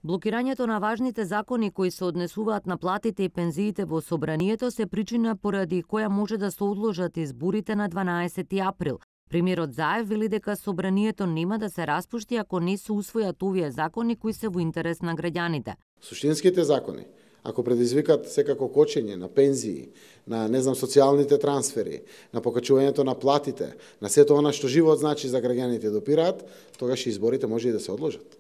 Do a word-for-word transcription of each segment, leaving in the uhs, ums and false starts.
Блокирањето на важните закони кои се однесуваат на платите и пензиите во собранието се причина поради која може да се одложат изборите на дванаесети април. Премиерот Заев вели дека собранието нема да се распушти ако не се усвојат овие закони кои се во интерес на граѓаните. Суштинските закони, ако предизвикат секако кочење на пензии, на не знам социјалните трансфери, на покачувањето на платите, на сето она што живот значи за граѓаните допираат, тогаш изборите може и да се одложат.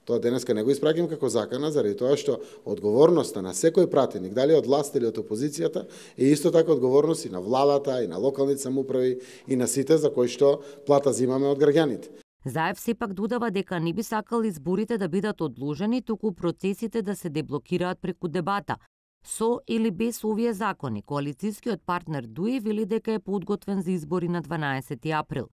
Тоа денеска не го испраќам како закана, заради тоа што одговорноста на секој пратеник, дали од власт или од опозицијата, е исто така одговорност и на владата, и на локалните самоуправи, и на сите за кои што плата зимаме од граѓаните. Заев сепак додава дека не би сакал изборите да бидат одложени, туку процесите да се деблокираат преку дебата. Со или без овие закони, коалицијскиот партнер Дуи вели дека е подготвен за избори на дванаесети април.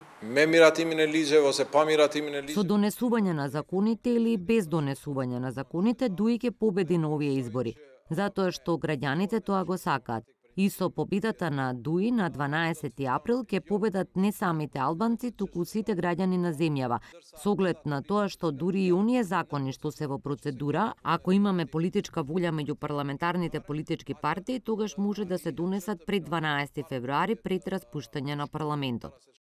Со донесување на законите или без донесување на законите, Дуи ќе победи на овие избори, затоа што граѓаните тоа го сакаат. И со победата на Дуи на дванаесети април ќе победат не самите албанци, туку сите граѓани на земјава. Со оглед на тоа што дури и оние закони што се во процедура, ако имаме политичка волја меѓу парламентарните политички партии, тогаш може да се донесат пред дванаесети февруари пред распуштање на парламентот.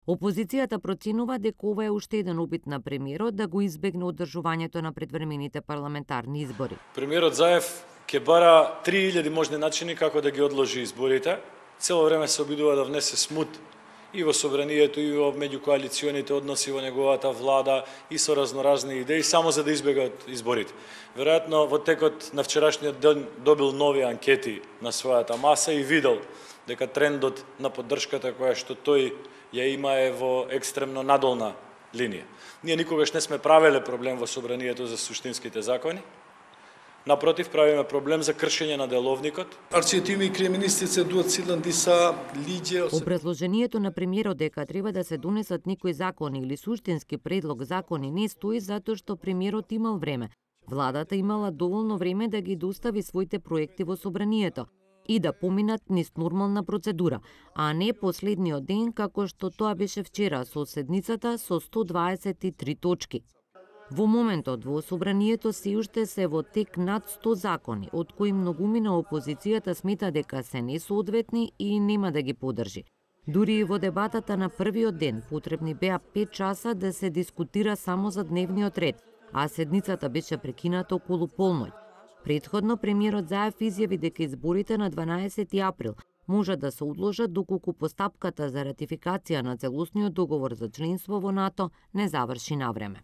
Опозицијата проценува дека ова е уште еден обид на премиерот да го избегне одржувањето на предвремените парламентарни избори. Премиерот Заев ќе бара три илјади можни начини како да ги одложи изборите. Цело време се обидува да внесе смут и во собранието, и во меѓукоалиционите односи во неговата влада, и со разноразни идеи, само за да избега од изборите. Веројатно, во текот на вчерашниот ден добил нови анкети на својата маса и видел дека трендот на поддршката која што тој ја има е во екстремно надолна линија. Ние никогаш не сме правеле проблем во собранието за суштинските закони. Напротив, правиме проблем за кршење на деловникот. Образложението на премиерот дека треба да се донесат некои закони или суштински предлог закони не стои затоа што премиерот имал време. Владата имала доволно време да ги достави своите проекти во собранието и да поминат низ нормална процедура, а не последниот ден како што тоа беше вчера со седницата со сто дваесет и три точки. Во моментот во собранието се уште се во тек над сто закони, од кои многумина опозицијата смета дека се несоодветни и нема да ги подржи. Дури и во дебатата на првиот ден потребни беа пет часа да се дискутира само за дневниот ред, а седницата беше прекината околу полноќ. Претходно премиерот Заев изјави дека изборите на дванаесети април може да се одложат доколку постапката за ратификација на целосниот договор за членство во НАТО не заврши навреме.